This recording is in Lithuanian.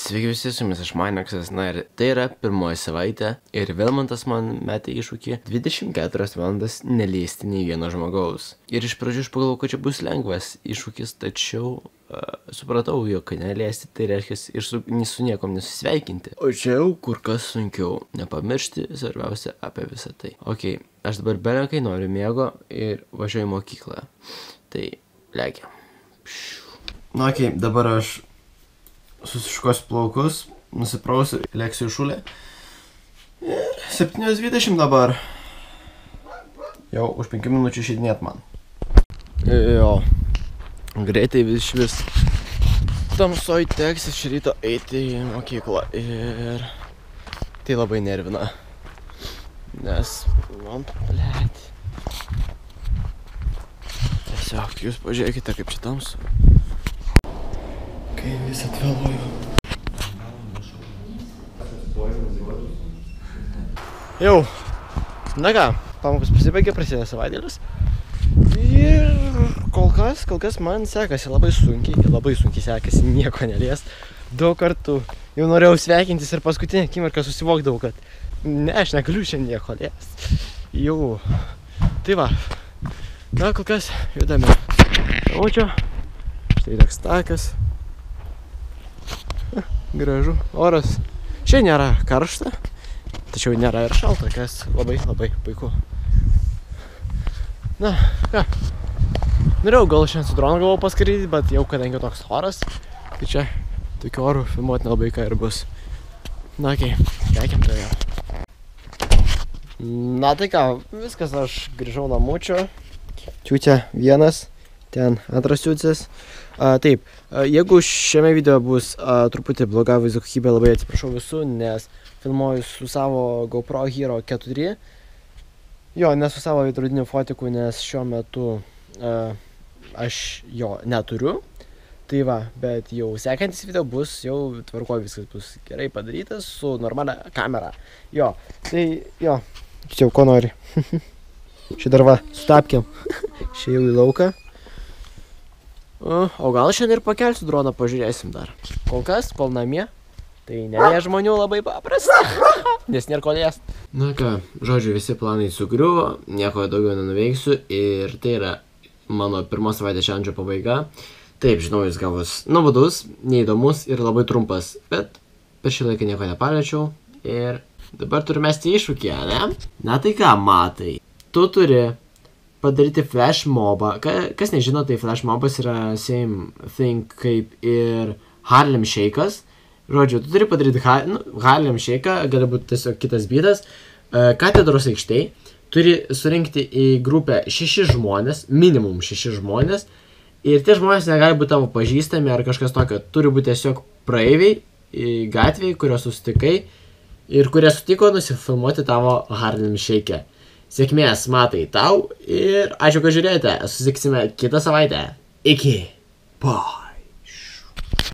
Sveiki visi, su jumis aš Mainaksas, na ir tai yra pirmoji savaitė ir Vilmantas man metė iššūkį 24 valandas neliesti nei vieno žmogaus. Ir iš pradžių aš pagalvojau, kad čia bus lengvas iššūkis, tačiau supratau, jog neliesti tai reiškia ir su niekom nesusveikinti. O čia jau kur kas sunkiau, nepamiršti svarbiausia apie visą tai. Ok, aš dabar belenkai noriu miego ir važiuoju į mokyklą. Tai lekia. Na ok, dabar aš susiškosiu plaukus, nusiprausiu, lėksiu į šulę. Ir 7:20 dabar. Jau už 5 minučių išeidinėt man. Jo, greitai vis tamsoj teks iš ryto eiti į mokyklą ir tai labai nervina. Nes man, blėt. Tiesiog jūs pažiūrėkite, kaip čia tamsu. Kai vis atvėluoju. Jau, na ką, pamokos pasibaigė, prasideda savaitėlis. Ir kol kas man sekasi labai sunkiai sekasi nieko neliest. Daug kartų jau norėjau sveikintis ir paskutinę akimirką susivokdavau, kad ne, aš negaliu šiandien nieko liest. Jau, tai va, na kol kas judame. O čia, štai toks takas. Gražu, oras. Šiandien nėra karšta, tačiau nėra ir šalta, kas labai puiku. Na, ką. Norėjau gal šiandien su dronu galvojau paskraidyti, bet jau kadangi toks oras, tai čia tokiu oru filmuoti nelabai ką ir bus. Na, okei, lekiam tai jau. Na tai ką, viskas, aš grįžau namučio. Čiūtė vienas, ten antras čiūtis. Taip, jeigu šiame video bus truputį bloga vaizdo kokybė, labai atsiprašau visų, nes filmuoju su savo GoPro Hero 4. Jo, ne su savo veidrodiniu fotiku, nes šiuo metu aš jo neturiu. Tai va, bet jau sekantis video bus, jau tvarkoj viskas bus gerai padarytas su normalia kamera. Jo, tai jo, čia jau ko nori. Šį dar va, sutapkiam. Šį jau į lauką. O gal šiandien ir pakelsiu droną, pažiūrėsim dar. Kol kas, kol namie, tai nelie žmonių labai paprasta, nes nėra ko liest. Na ką, žodžiu, visi planai sugriuvo, nieko daugiau nenuveiksiu ir tai yra mano pirmos savaitės čialedžo pabaiga. Taip, žinau, jis gavus nuobodus, neįdomus ir labai trumpas, bet per šį laiką nieko nepaliečiau ir dabar turiu mesti iššūkį, ne? Na tai ką, matai, tu turi padaryti flash mobą. Kas nežino, tai flash mobas yra same thing kaip ir Harlem Shake'as. Žodžiu, tu turi padaryti Harlem Shake'ą, gali būti tiesiog kitas bytas. Katedros aikštėj turi surinkti į grupę 6 žmonės, minimum 6 žmonės. Ir tie žmonės negali būti tavo pažįstami ar kažkas tokio. Turi būti tiesiog praeiviai gatvėj, kurios susitikai ir kurie sutiko nusifilmuoti tavo Harlem Shake'e. Sėkmės, matai, tau ir ačiū, kad žiūrėjote. Susitiksime kitą savaitę. Iki. Po.